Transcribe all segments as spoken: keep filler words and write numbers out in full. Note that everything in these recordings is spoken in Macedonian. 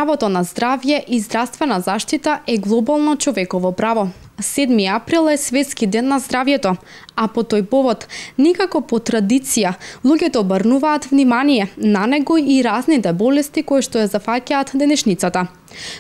Правото на здравје и здравствена заштита е глобално човеково право. седми април е Светски ден на здравјето, а по тој повод, никако по традиција, луѓето обрнуваат внимание на него и разните болести кои што ја зафаќаат денешницата.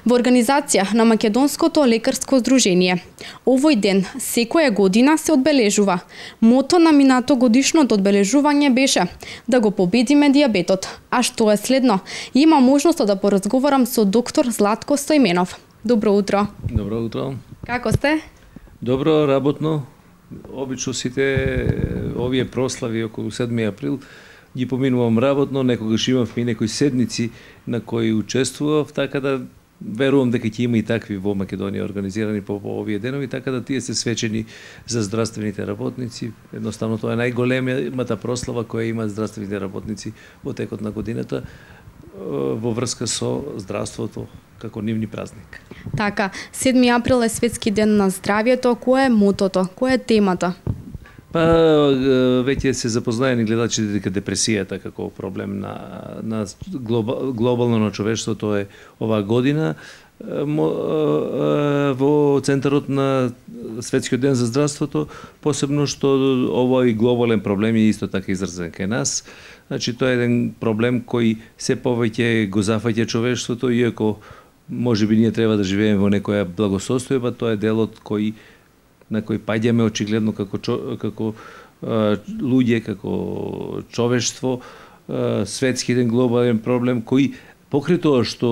Во организација на Македонското лекарско здружение, овој ден секоја година се одбележува. Мото на минато годишното одбележување беше да го победиме дијабетот. А што е следно? Има можност да поразговарам со доктор Златко Стојменов. Добро утро. Добро утро. Како сте? Добро, работно. Обично сите овие прослави околу седми април ги поминувам работно, некогаш имав и некои седници на кои учествував, така да верувам дека ќе има и такви во Македонија организирани по, по овие денови, така да тие се свечени за здравствените работници. Едноставно тоа е најголемата прослава која има здравствените работници во текот на годината во врска со здравството како нивни празник. Така, седми април е Светски ден на здравјето. Кој е мотото? Која е темата? Па, веќе се запознаени гледачите дека депресијата како проблем на, на глобално на човештвото е оваа година. Во центарот на Светскиот ден за здравството, посебно што овој глобален проблем е исто така изразен кај нас. Значи, тоа е еден проблем кој се повеќе го зафаќа човештвото, иако може би ние треба да живееме во некоја благосостојба, тоа е делот кој на кој паѓаме очигледно како како а, луѓе, како човештво, а, светски еден глобален проблем кој покрај тоа што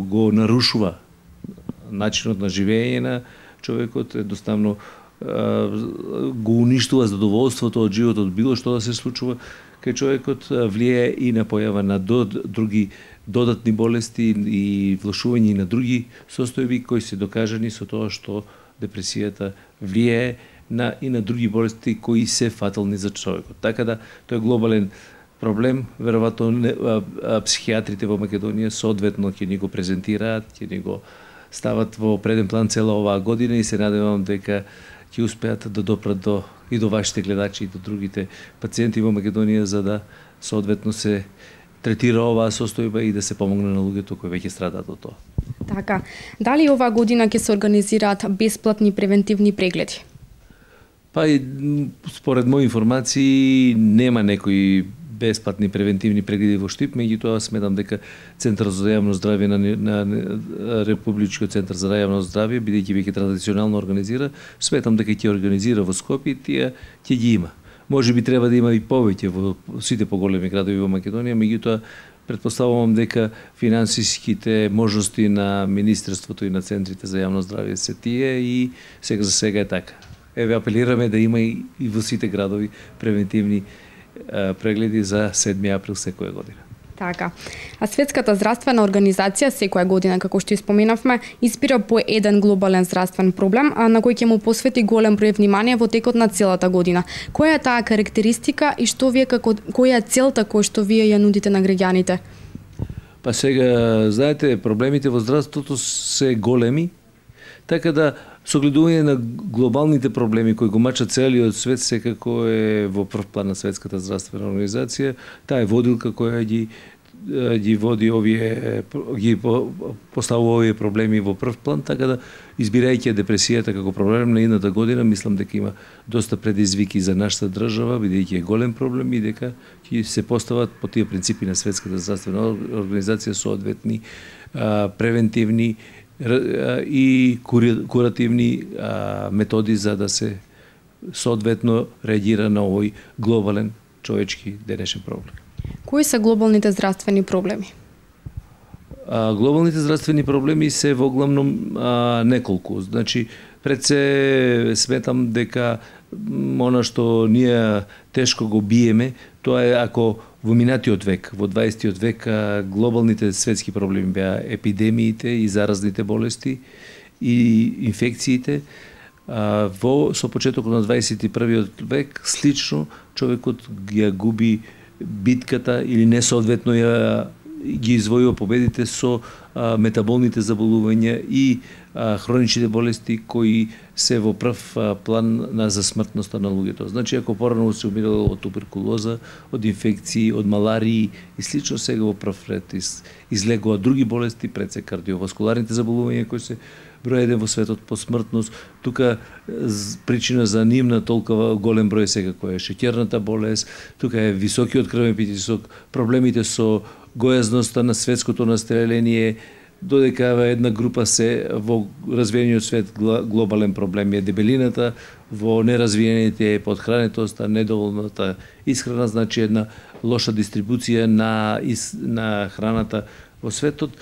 го нарушува начинот на живење на човекот, едноставно а, го уништува задоволството од животот, било што да се случува кај човекот, влијае и на појава на дод, други додатни болести и влошување на други состојби кои се докажани со тоа што депресијата влијае на и на други болести кои се фатални за човекот. Така да тој е глобален проблем, веројатно психијатрите во Македонија соодветно ќе ни го презентираат, ќе ни го стават во преден план цела оваа година и се надевам дека ќе успеат да допрат до и до вашите гледачи и до другите пациенти во Македонија за да соодветно се третира оваа состојба и да се помогне на луѓето кои веќе страдаат од тоа. Така, дали оваа година ќе се организираат бесплатни превентивни прегледи? Па и според мои информации нема некои бесплатни превентивни прегледи во Штип, меѓутоа сметам дека Центарот за јавно здравје на, на, на Републичкиот центар за јавно здравје, бидејќи веќе традиционално организира, сметам дека ќе организира во Скопје и тие ќе ги има. Може би треба да има и повеќе во сите поголеми градови во Македонија, меѓутоа претпоставувам дека финансиските можности на Министерството и на центрите за јавно здравје се тие и сега за сега е така. Еве апелираме да има и, и во сите градови превентивни а, прегледи за седми април секоја година. Така. А Светската здравствена организација секоја година, како што испоменавме, испира по еден глобален здравствен проблем, а на кој ќе му посвети голем број внимание во текот на целата година. Која е таа карактеристика и што вие како која е целта која што вие ја нудите на граѓаните? Па сега, знаете, проблемите во здравството се големи, така да согледување на глобалните проблеми кои го мачат целиот свет секако е во прв план на Светската здравствена организација. Таа е водилка која ги ги води овие ги поставува овие проблеми во прв план, така да избирајќи депресијата како проблем на едната година, мислам дека има доста предизвики за нашата држава, бидејќи е голем проблем и дека ќе се постават по тие принципи на Светската здравствена организација соодветни превентивни и куративни а, методи за да се соодветно реагира на овој глобален човечки денешен проблем. Кои се глобалните здравствени проблеми? А, глобалните здравствени проблеми се во главном а, неколку. Значи, пред се сметам дека она што ние тешко го биеме, тоа е ако во минатиот век, во дваесеттиот век, глобалните светски проблеми беа епидемиите и заразните болести и инфекциите. Во со почетокот на дваесет и првиот век, слично, човекот ја губи битката или несоодветно ја ги извојува победите со а, метаболните заболувања и а, хроничните болести кои се во прв а, план на за смртноста на луѓето. Значи, ако порано се умирало од туберкулоза, од инфекции, од маларии и слично, сега во прв ред из, излегува други болести, пред се кардиоваскуларните заболувања кои се број еден во светот по смртност. Тука причина за нивна толкова голем број секако е шеќерната болест, тука е високиот крвен притисок, проблемите со гојазноста на светското население, додека една група се во развиениот свет глобален проблем е дебелината, во неразвиените е подхранетоста, недоволната исхрана, значи една лоша дистрибуција на, на храната во светот,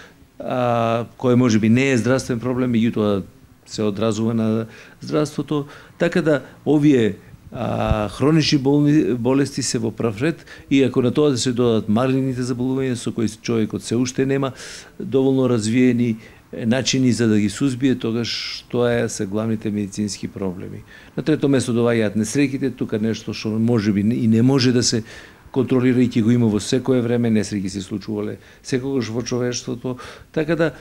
а, кој можеби не е здравствен проблем, меѓутоа се одразува на здравството, така да овие а, хронични болни, болести се во прав ред, и ако на тоа да се додадат малигните заболувања со кои човекот се уште нема доволно развиени начини за да ги сузбие, тогаш тоа се главните медицински проблеми. На трето место доаѓаат несреќите, тука нешто што можеби и не може да се контролирајќи го има во секое време, несреќи се случувале секогаш во човештвото, така да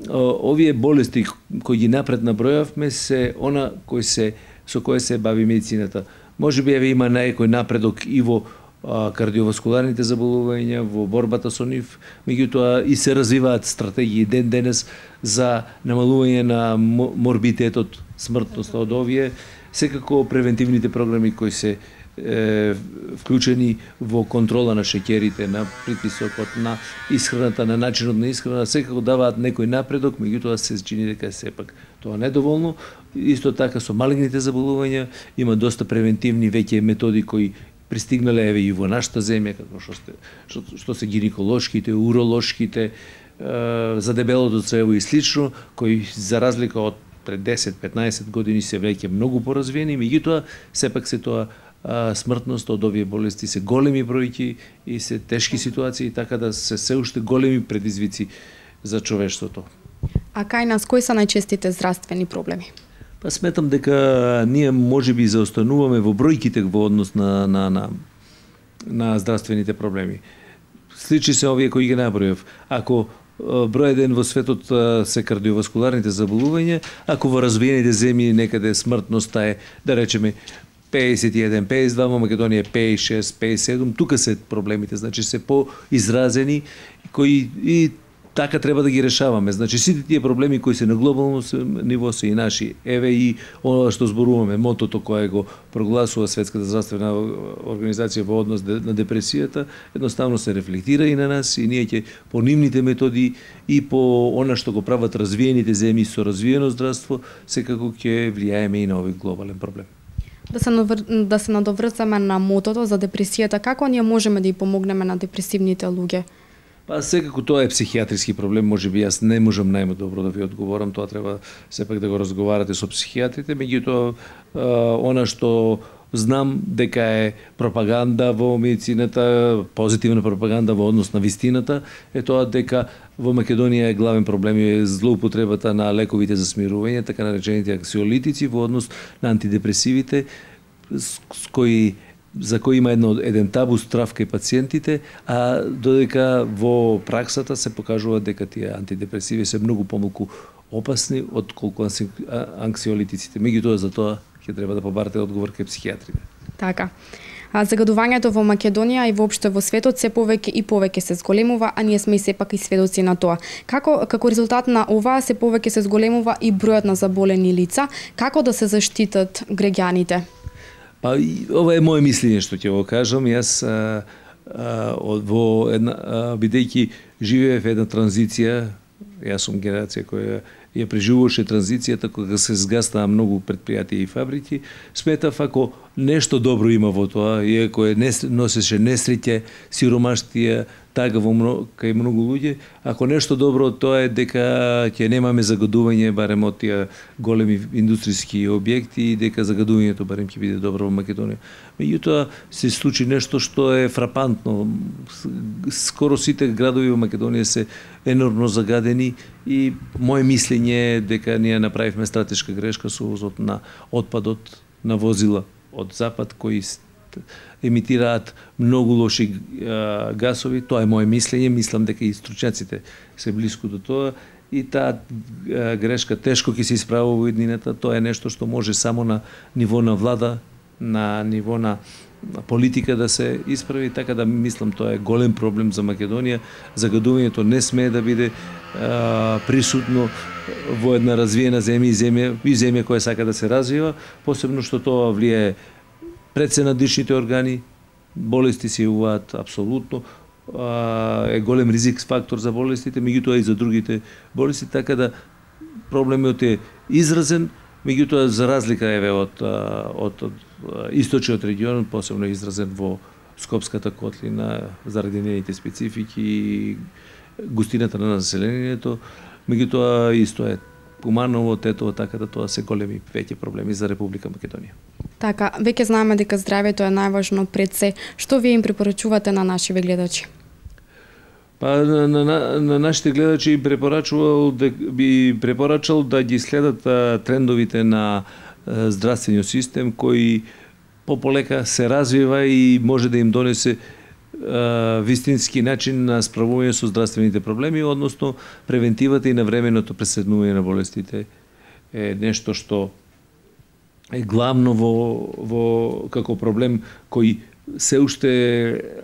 овие болести кои ги напред набројавме се она кои се со кое се бави медицината. Можеби еве има најкој напредок и во а, кардиоваскуларните заболувања, во борбата со нив, меѓутоа и се развиваат стратегии ден денес за намалување на морбитетот, смртноста од овие, секако превентивните програми кои се е, вклучени во контрола на шеќерите, на притисокот, на исхраната, на начинот на исхрана, секако даваат некој напредок, меѓутоа се чини дека сепак тоа недоволно. Исто така со малигните заболувања има доста превентивни веќе методи кои пристигнале еве и во нашата земја, како што сте, што, што се гинеколошките, уролошките, е, за дебелото црево и слично, кои за разлика од пред десет-петнаесет години се веќе многу поразвиени, меѓутоа сепак се тоа а, смртност од овие болести се големи бројки и се тешки ситуации, така да се се уште големи предизвици за човештвото. А кај нас кои се најчестите здравствени проблеми? Па сметам дека ние можеби заостануваме во бројките во однос на на на на здравствените проблеми. Сличи се овие кои ги набројав. Ако број еден во светот се кардиоваскуларните заболувања, ако во развиените земји некаде смртноста е, да речеме, пеесет и еден, пеесет и два, во Македонија пеесет и шест, пеесет и седум, тука се проблемите, значи се поизразени, кои и така треба да ги решаваме. Значи сите тие проблеми кои се на глобално ниво се и наши. Еве и оно што зборуваме, мотото кое го прогласува Светската здравствена организација во однос на депресијата, едноставно се рефлектира и на нас, и ние ќе по нивните методи и по она што го прават развиените земји со развиено здравство, секако ќе влијаеме и на овој глобален проблем. Да се, навр... да се надоврзаме на мотото за депресијата, како ние можеме да ја помогнеме на депресивните луѓе? Па секако тоа е психијатриски проблем, можеби јас не можам најдобро да ви одговорам, тоа треба сепак да го разговарате со психијатрите, меѓутоа она што знам дека е пропаганда во медицината, позитивна пропаганда во однос на вистината, е тоа дека во Македонија е главен проблем е злоупотребата на лековите за смирување, така наречените анксиолитици во однос на антидепресивите, с кои за кој има едно, еден табу страв кај пациентите, а додека во праксата се покажува дека тие антидепресиви се многу помалку опасни од колку анксиолитиците. Меѓутоа за тоа ќе треба да побарате одговор кај психијатрите. Така. А загадувањето во Македонија и воопшто во светот се повеќе и повеќе се зголемува, а ние сме и сепак и сведоци на тоа. Како како резултат на ова се повеќе се зголемува и бројот на заболени лица, како да се заштитат граѓаните? Па, ова е моje мислење што ќе го кажам. Јас а, а, во една бидејќи живеев една транзиција, јас сум генерација која ја преживуваше транзицијата кога се згаснаа многу предпријатија и фабрики, сметав ако нешто добро има во тоа, иако е носеше несреќа, сиромаштија, тага во много, кај многу луѓе, ако нешто добро од тоа е дека ќе немаме загадување барем од тие големи индустријски објекти и дека загадувањето барем ќе биде добро во Македонија. Меѓутоа се случи нешто што е фрапантно. Скоро сите градови во Македонија се енормно загадени и моje мислење е дека ние направивме стратешка грешка со увозот на отпадот на возила од запад кои емитираат многу лоши гасови. Тоа е мое мислење, мислам дека и стручњаците се блиску до тоа. И таа грешка тешко ќе се исправува во иднината. Тоа е нешто што може само на ниво на влада, на ниво на политика да се исправи, така да мислам тоа е голем проблем за Македонија. Загадувањето не смее да биде а, присутно во една развиена земја и земја и земја која сака да се развива, посебно што тоа влијае пред се на дишните органи, болести се јавуваат апсолутно, а, е голем ризик фактор за болестите, меѓутоа и за другите болести, така да проблемот е изразен. Меѓутоа, за разлика еве од, од, од источниот регион, посебно изразен во Скопската котлина, заради нейните специфики и густината на населението, меѓутоа исто е Куманово, Тетово, така да тоа се големи веќе проблеми за Република Македонија. Така, веќе знаеме дека здравјето е најважно пред се. Што вие им препорачувате на нашиве гледачи? Па на, на, на нашите гледачи препорачувал да би препорачал да ги следат а, трендовите на а, здравствениот систем кој пополека се развива и може да им донесе а, вистински начин на справување со здравствените проблеми, односно превентивата и навременото преседнување на болестите е нешто што е главно во, во како проблем кој се уште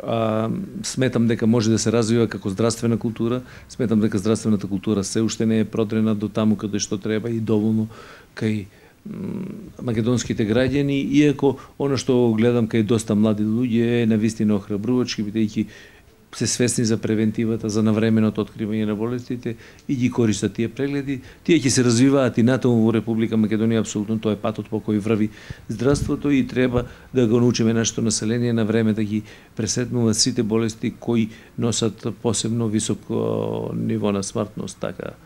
а, сметам дека може да се развива како здравствена култура, сметам дека здравствената култура се уште не е продрена до таму каде што треба и доволно кај македонските граѓани, иако она што гледам кај доста млади луѓе е навистина охрабрувачки, бидејќи се свесни за превентивата, за навременото откривање на болестите и ги користат тие прегледи. Тие ќе се развиваат и натаму во Република Македонија, апсолутно тоа е патот по кој врви здравството и треба да го научиме нашето население на време да ги пресетнуваат сите болести кои носат посебно високо ниво на смртност, така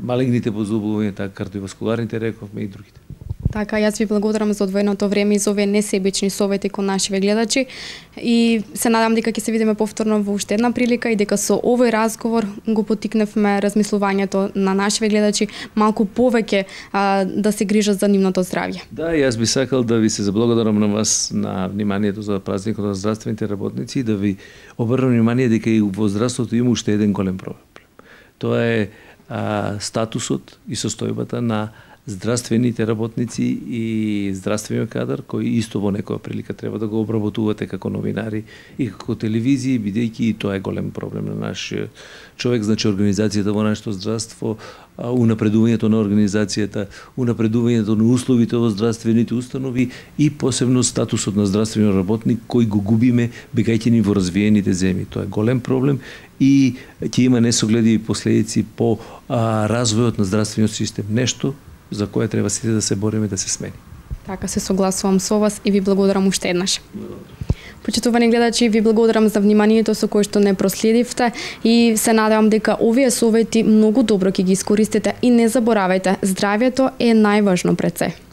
малигните позубувања, така кардиоваскуларните рековме и другите. Така, јас ви благодарам за одвоеното време и за овие несебични совети кон нашиве гледачи и се надам дека ќе се видиме повторно во уште една прилика и дека со овој разговор го поттикневме размислувањето на нашиве гледачи малку повеќе а, да се грижат за нивното здравје. Да, јас би сакал да ви се заблагодарам на вас на вниманието за празникот на здравствените работници и да ви обрнам внимание дека и во здравството има уште еден голем проблем. Тоа е а, статусот и состојбата на здравствените работници и здравствениот кадар, кој исто во некоја прилика треба да го обработувате како новинари и како телевизии, бидејќи и тоа е голем проблем на нашиот човек, значи организацијата во нашето здравство, унапредувањето на организацијата, унапредувањето на условите во здравствените установи и посебно статусот на здравствениот работник кој го губиме бегајќи ни во развиените земји. Тоа е голем проблем и ќе има несогледиви последици по а, развојот на здравствениот систем. Нешто за кое треба сите да се бориме да се смени. Така, се согласувам со вас и ви благодарам уште еднаш. Почитувани гледачи, ви благодарам за вниманието со кое што не проследивте и се надевам дека овие совети многу добро ќе ги искористите и не заборавајте, здравјето е најважно пред се.